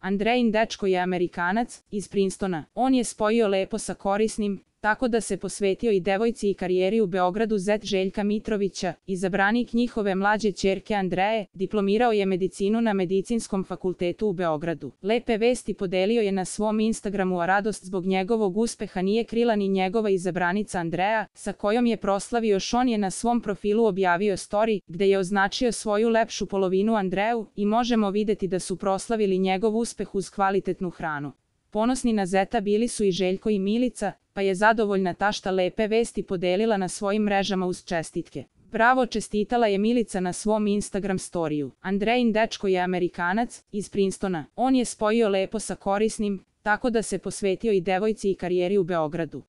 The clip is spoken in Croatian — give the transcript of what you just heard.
Andrejin dečko je Amerikanac, iz Princetona. On je spojio lepo sa korisnim, tako da se posvetio i devojci i karijeri u Beogradu. Zet Željka Mitrovića, izabranik njihove mlađe ćerke Andreje, diplomirao je medicinu na Medicinskom fakultetu u Beogradu. Lepe vesti podelio je na svom Instagramu, a radost zbog njegovog uspeha nije krila ni njegova izabranica Andreja, sa kojom je proslavio još. On je na svom profilu objavio story, gde je označio svoju lepšu polovinu Andreju i možemo videti da su proslavili njegov uspeh uz kvalitetnu hranu. Ponosni na zeta bili su i Željko i Milica, pa je zadovoljna tašta lepe vesti podelila na svojim mrežama uz čestitke. Bravo, čestitala je Milica na svom Instagram storiju. Andrejin dečko je Amerikanac, iz Princetona. On je spojio lepo sa korisnim, tako da se posvetio i devojci i karijeri u Beogradu.